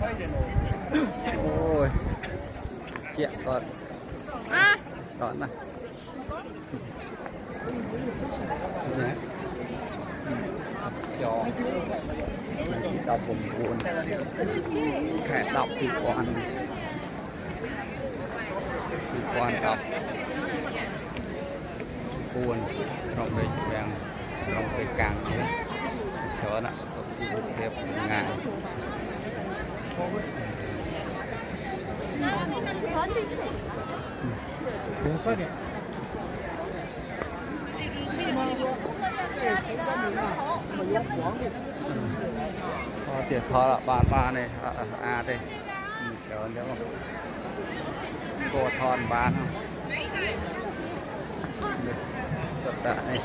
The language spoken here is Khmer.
អូយជាក់គាត់ស្តណាស់ច19ខែ10 2000 2014ក្រុងព្រៃវាំងក្រុងព្រៃកាំងនេះច្រើនណាស់សុខភាពងាយអត់ទៀតថតបានបានទេស្អាតទេច្រើនចឹងគោថតបានសត្វតានេះ